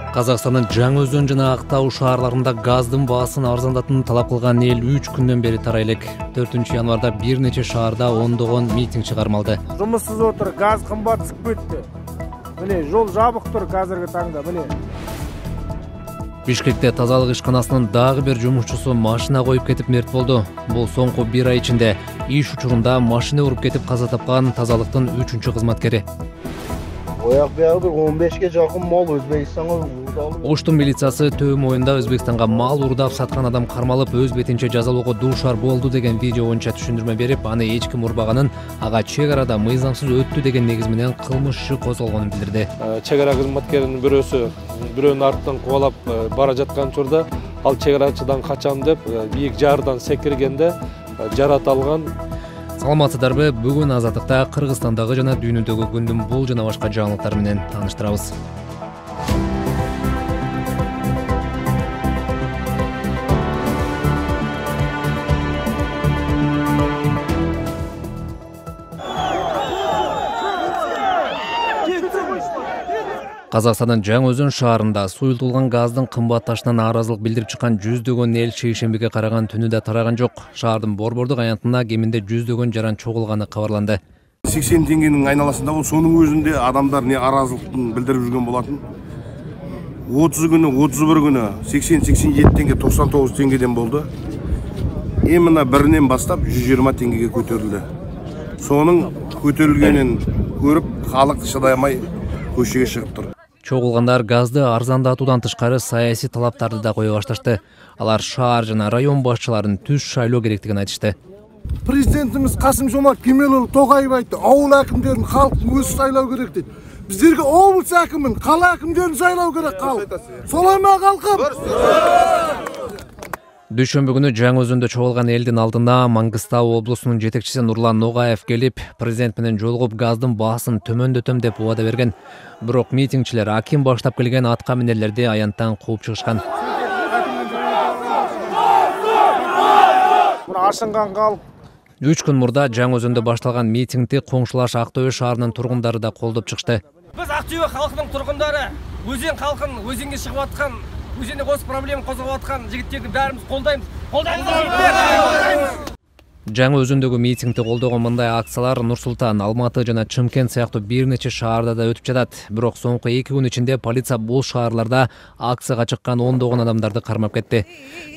Казакстандын Жаңы Өзөн жана Актау шаарларында газдын баасын арзандатууну талап кылган эл 3 күндөн бери тарай элек. 4 январда бир нече шаарда ондогон митинг чыгармалды. Жумушсуз отур, газ кымбат чыгып кетти. Міне, жол жабык тур азыркы таңда, міне. Бишкекте тазалык ишканасынын дагы бир жумушчусу машина коюп кетип мерт болду. Бул соңку 1 ай ичинде иш учурунда машина уруп кетип каза тапкан тазалыктын 3-чү кызматкери. Ояк биягы 15ге жакын мал Өзбекстанга уурдалып. Оштун милициясы Төө моюнда Өзбекстанга мал уурдап саткан адам кармалып, өз бетинче жазалоого дуушар болду деген видео боюнча түшүндүрмө берип, аны эч ким урбаганын, ага чек арада мыйзамсыз өттү деген негиз менен кылмыш иши козголгонун билдирди. Чек ара кызматкеринин бирөөнүн артынан кубалап бара жаткан учурда ал чек арачыдан качам деп бийик жаардан секиргенде жарат алган. Саламатсыздарбы? Бүгүн Азаттыкта Кыргызстандагы жана дүйнөдөгү күндүн бул жана башка жаңылыктар менен тааныштырабыз. Казакстандын Жаңы Өзөн шаарында суюлтулган газдын кымбатташына нааразылык билдирип чыккан жүздөгөн эл шейшембиге караган түнү да тараган жок. Шаардын борбордук аянтына кеминде жүздөгөн жаран чогулганы кабарланды. 80 теңгенин айналасында бул, сонун өзүндө адамдар нааразылыктын билдирип жүргөн болотун. 30 күнү, 31 күнү 80-87 теңге, 99 теңгеден болду. Мына биринен баштап 120 теңгеге көтөрүлдү. Сонун көтөрүлгөнүн көрүп, халык чыдай алмай көчөгө чыгып тур. Чогулгандар газды арзандатуудан тышкары саясий талаптарды да кое башташты. Алар шаар жана район башчыларын түз шайлоо керектигин айтышты. Президентimiz Касым-Жомарт Кемелұлы Тоқаев айтты, ауыл әкімдерін халық өзі сайлау керек дейді. Біздерге облыс әкімін, қала әкімдерін сайлау керек халық. Солай ма халқым? Дүйшөмбү күнү Жаңы Өзөндө чогулган элдин алдына Маңгыстау облусунун жетекчиси Нурлан Ногаев келип, президент менен жолугуп газдын баасын төмөндөтөм деп убада берген. Бирок митингчилер аким баштап келген атка минерлерди аянттан кууп чыгышкан. Ашынган калып. 3 күн мурда Жаңы Өзөндө башталган митингди коңшулаш Ақтөбе шаарынын тургундары да колдоп чыкты. Биз Ақтөбе халкынын тургундары, өзен халкын өзенге чыгып аткан, өзенде осы проблема козгоп аткан жигиттерди баарыбыз колдойбуз. Жаңы Өзөндөгү митингди колдогон мындай акциялар Нур Султан, Алматы жана Чымкент сыяктуу бир нече шаарда да өтүп жатат. Бирок соңку 2 күн ичинде полиция бул шаарларда акцияга чыккан ондогон адамдарды кармап кетти.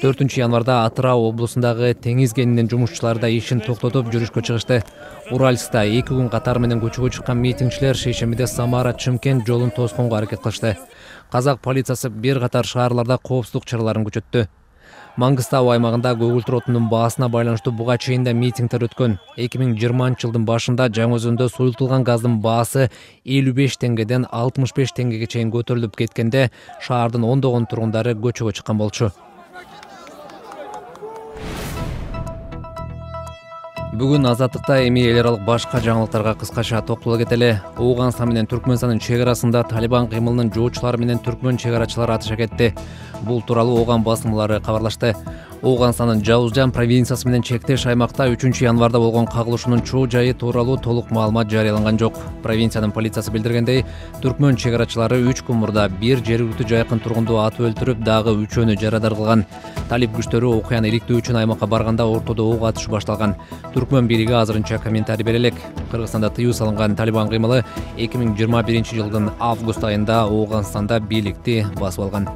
4 январда Атырау облусундагы теңиз кенинин жумушчулары да ишин токтотуп жүрүшкө чыгышты. Уральскта 2 күн катар менен көчөгө чыккан митингчилер шейшембиде Самара Чымкент жолун тосконго аракет кылышты. Казак полициясы бир катар шаарларда коопсуздук чараларын күчөттү. Маңгыстау аймагында көгүлтүр отунун баасына байланыштуу буга чейин да митингдер өткөн. 2020-жылдын башында Жаңы Өзөндө суюлтулган газдын баасы 55 теңгеден 65 теңгеге чейин көтөрүлүп кеткенде, шаардын ондогон тургундары көчөгө чыккан болчу. Бүгүн Азаттыкта эми эл аралык башка жаңылыктарга кыскача токтоло кетели. Ооганстан менен Түркмөнстандын чек арасында Талибан кыймылынын жоочулары менен түркмөн чек арачылары атыша кетти. Бул тууралуу Ооган басылмалары кабарлашты. Ооганстандын Жаузжан провинциясы менен чектеш аймакта 3 январда болгон кагылышуунун чоо жайы тууралуу толук маалымат жарыяланган жок. Провинциянын полициясы билдиргендей, түркмөн чек арачылары 3 күн мурда бир жергиликтүү жайкын тургунду атып өлтүрүп, дагы 3-өнү жарадар кылган. Талип күчтөрү окуяны иликтөө үчүн аймакка барганда ортодо ок атыш башталган. Түркмөн бийлиги азырынча комментарий бере элек. Кыргызстанда тыюу салынган Талибан кыймылы 2021-жылдын август айында Ооганстанда бийликти басып алган.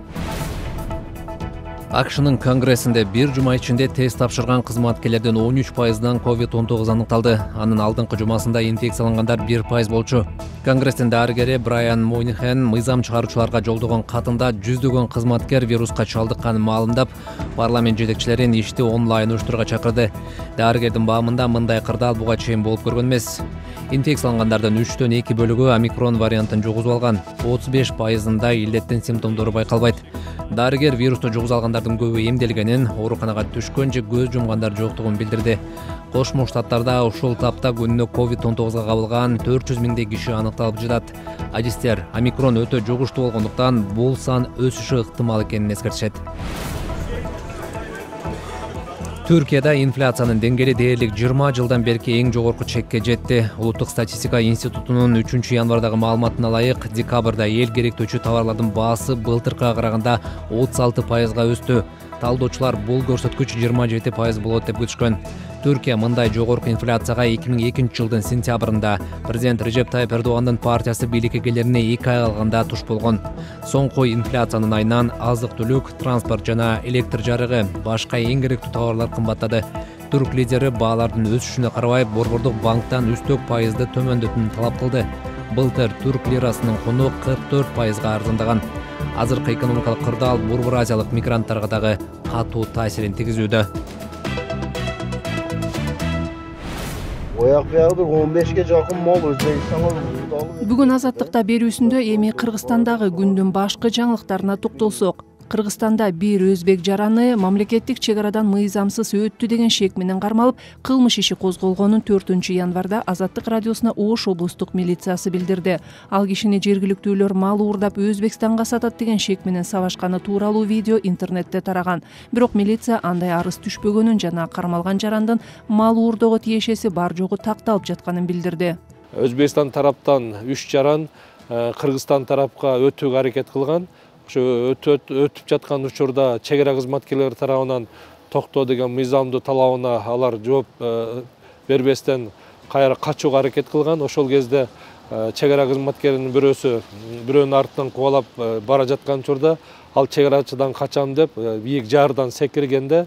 АКШнын Конгрессинде бир жума ичинде тест тапшырган кызматкерлердин 13%дан COVID-19 аныкталды. Анын алдыңкы жумасында инфекциялангандар 1% болчу. Конгресстин дарыгери Брайан Мойнихен мыйзам чыгаруучуларга жолдогон катында жүздөгөн кызматкер вируска чалдыкканын маалымдап, парламент жетекчилерин ишти онлайн уюштурууга чакырды. Дарыгердин баамында мындай кырдаал буга чейин болуп көргөн эмес. Инфекциялангандардын 3-төн 2 бөлүгү омикрон вариантын жугузуп алган. 35%-ында илдеттин симптомдору байкалбайт. Дарыгер вирусту жугузуп алгандардын көбү эмделгенин, ооруканага түшкөн же көз жумгандар жоктугун билдирди. Кошмо Штаттарда ушул тапта күнүнө COVID-19 кабылган 400 миңдей киши аныкталып жатат. Адистер омикрон өтө жугуштуу болгондуктан бул сан өсүшү ыктымал экенин эскертишет. Түркияда инфляциянын деңгээли дээрлик 20 жылдан берки эң жогорку чекке жетти. Улуттук статистика институтунун 3-январдагы маалыматына ылайык, декабрда эл керектөөчү товарлардын баасы былтыркыга караганда 36%га өстү. Талдоочулар бул көрсөткүч 27% болот деп күтүшкөн. Түркия мындай жогорку инфляцияга 2002 жылдын сентябрында президент Режеп Тайып Эрдогандын партиясы бийликке келерине 2 ай калганда туш болгон. Соңку инфляциянын айынан азык-түлүк, транспорт жана электр жарыгы, башка эң керектүү товарлар кымбаттады. Түрк лидери баалардын өсүшүнө карабай Борбордук банктан үстөк пайызды төмөндөтүүнү талап кылды. Былтыр түрк лирасынын куну 44%га арзандаган. Азыркы экономикалык кырдаал Борбор Азиялык мигранттарга дагы катуу таасирин тийгизүүдө. Ояк биягы 15ге жакын мал Өзбекстанга укталып. Бүгүн Азаттыкта берүүсүндө эми Кыргызстандагы күндүн башкы жаңылыктарына токтолсок. Кыргызстанда бир өзбек жараны мамлекеттик чек арадан мыйзамсыз өттү деген шек менен кармалып, кылмыш иши козголгонун 4-январда Азаттык радиосуна Ош облустук милициясы билдирди. Ал кишини жергиликтүүлөр мал уурдап Өзбекстанга сатат деген шек менен сабашканы тууралуу видео интернетте тараган. Бирок милиция андай арыз түшпөгөнүн жана кармалган жарандын мал уурдоого тиешеси бар жогу такталып жатканын билдирди. Өзбекстан тараптан 3 жаран Кыргызстан тарапка өтүүгө аракет кылган. Ошо өтүп жаткан учурда чек ара кызматкерлери тарабынан токтоо деген мыйзамдуу талабына алар жооп бербестен кайра качууга аракет кылган. Ошол кезде чек ара кызматкеринин бирөөнүн артынан кубалап бара жаткан учурда ал чек арачыдан качам деп бийик жаардан секиргенде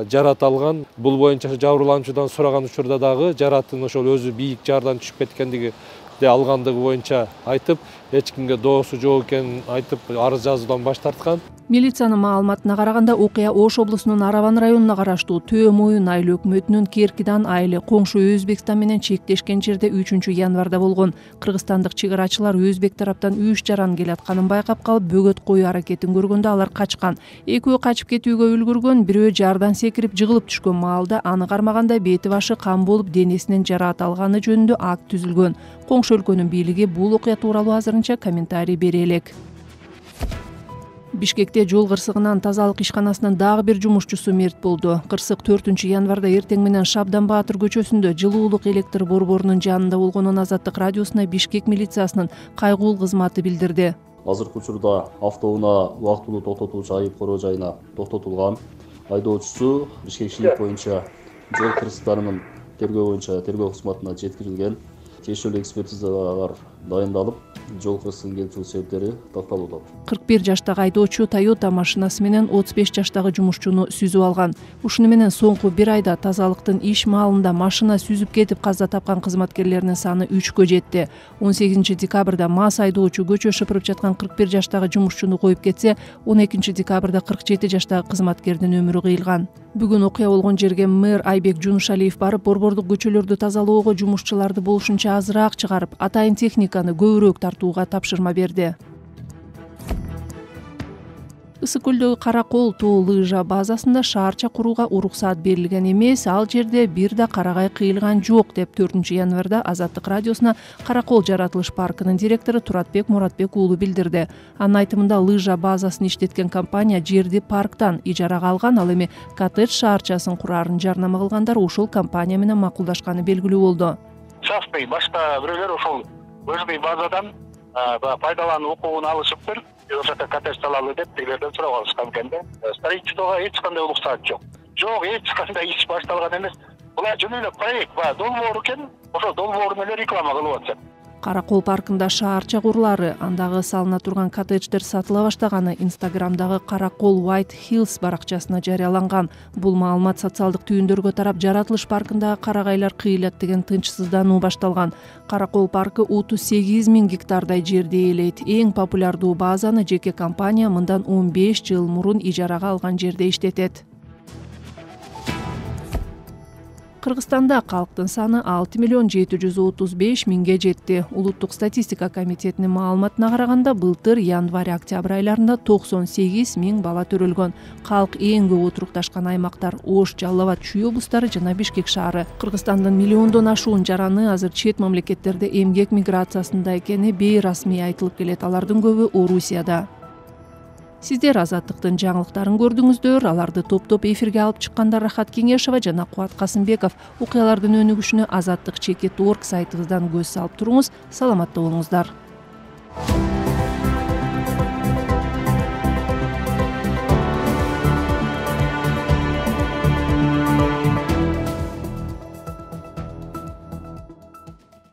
жарат алган. Бул боюнча жабырлануучудан сураган учурда дагы жараттын ошол өзү бийик жаардан түшүп кеткендиги алгандыгы боюнча айтып, эч кимге доосу жок экенин айтып, арыз жазуудан баш тарткан. Милициянын маалыматына караганда окуя Ош облусунун Араван районуна караштуу Төө Моюн айыл өкмөтүнүн Керкидан айылы коңшу Өзбекстан менен чектешкен жерде 3-январда болгон. Кыргызстандык чек арачылар Өзбек тараптан 3 жаран келатканын байкап калып, бөгөт коюу аракетин көргөндө алар качкан. Экөө качып кетүүгө үлгүргөн, бирөө жаардан секирип жыгылып түшкөн маалда аны кармаганда бети башы кан болуп, денесинен жараат алганы жөнүндө акт түзүлгөн. Коңшу өлкөнүн бийлиги бул окуя тууралуу азырынча комментарий бере элек. Бишкекте жол кырсыгынан тазалык ишканасынын дагы бир жумушчусу мерт болду. Кырсык 4-январда эртең менен Шабдан Баатыр көчөсүндө жылуулук электр борборунун жанында болгонун Азаттык радиосуна Бишкек милициясынын кайгуул кызматы билдирди. Азыркы учурда автоунаа убактылуу токтотулуучу айып короо жайына токтотулган. Айдоочусу Бишкек шилик боюнча жол кырсыктарынын тергөө боюнча тергөө кызматына жеткирилген. Тиешелүү экспертизалар дайындалып, жол кырсыгынын келтирүү себептери такталууда. 41 жаштагы айдоочу Toyota машинасы менен 35 жаштагы жумушчуну сүзүп алган. Ушуну менен соңку 1 айда тазалыктын иш маалында машина сүзүп кетип каза тапкан кызматкерлердин саны 3кө жетти. 18 декабрда мас айдоочу көчө шыпырып жаткан 41 жаштагы жумушчуну коюп кетсе, 12 декабрда 47 жаштагы кызматкердин өмүрү кыйылган. Бүгүн окуя болгон жерге мэр Айбек Жунушалиев барып, борбордук көчөлөрдү тазалоого жумушчуларды болушунча азыраак чыгарып, атайын техниканы көбүрөөк тартууга тапшырма берди. Ысык көлдөгү Каракол тоо лыжа базасында шаарча курууга уруксаат берилген эмес, ал жерде бир да карагай кыйылган жок деп 4-январда Азаттык радиосуна Каракол жаратылыш паркынын директору Туратбек Муратбек уулу билдирди. Анын айтымында лыжа базасын иштеткен компания жерди парктан ижарага алган, ал эми коттедж шаарчасын курарын жарнама кылгандар ушул компания менен макулдашканы белгилүү болду. Частный башка бирөөлөр ошол лыжный базадан пайдалануу укугун алышыптыр. Ошол жакка коттедж салалы деп тегилерден сурап алышкан экен да. Строительствого эч кандай уруксаат жок. Жок, эч кандай иш башталган эмес. Булар жөн эле проект бар, долбоор экен. Ошол долбоорун эле реклама кылып атышат. Каракол паркында шаарча курулары, андагы салына турган коттедждер сатыла баштаганы Инстаграмдагы Каракол White Hills баракчасына жарыяланган. Бул маалымат социалдык түйүндөргө тарап, жаратылыш паркындагы карагайлар кыйлат деген тынчсыздануу башталган. Каракол паркы 38 000 гектардай жерди ээлейт. Эң популярдуу базаны жеке компания мындан 15 жыл мурун ижарага алган жерде иштетет. Кыргызстанда калктын саны 6 735 000ге жетти. Улуттук статистика комитетинин маалыматына караганда, былтыр январь-октябрь айларында 98 000 бала төрөлгөн. Калк эң көп отурукташкан аймактар Ош, Жалал Абад, Чүй облустары жана Бишкек шаары. Кыргызстандын миллиондон ашуун жараны азыр чет мамлекеттерде эмгек миграциясында экени бейрасмий айтылып келет. Алардын көбү Орусияда. Сиздер Азаттыктын жаңылыктарын көрдүңүздөр. Аларды топтоп эфирге алып чыккандар Рахат Кеңешова жана Кубат Касымбеков. Окуялардын өнүгүшүнө Азаттык.org сайтыбыздан көз салып туруңуз. Саламатта болуңуздар.